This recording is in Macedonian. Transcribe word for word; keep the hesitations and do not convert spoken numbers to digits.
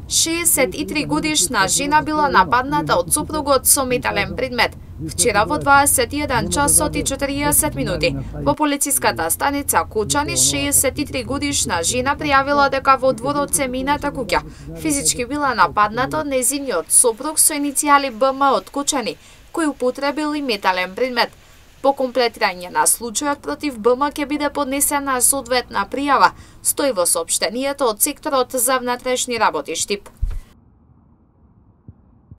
шеесет и три годишна жена била нападната од сопругот со метален предмет. Вчера во дваесет и еден часот и четириесет минути во полициската станица Кучани шеесет и три годишна жена пријавила дека во дворот се мината куќа физички била нападната од нејзиниот сопруг со иницијали Б М од Кучани, кој употребил и метален предмет. По комплетирање на случајот против Б М ќе биде поднесена соодветна пријава, стои во соопштенијето од секторот за внатрешни работи Штип.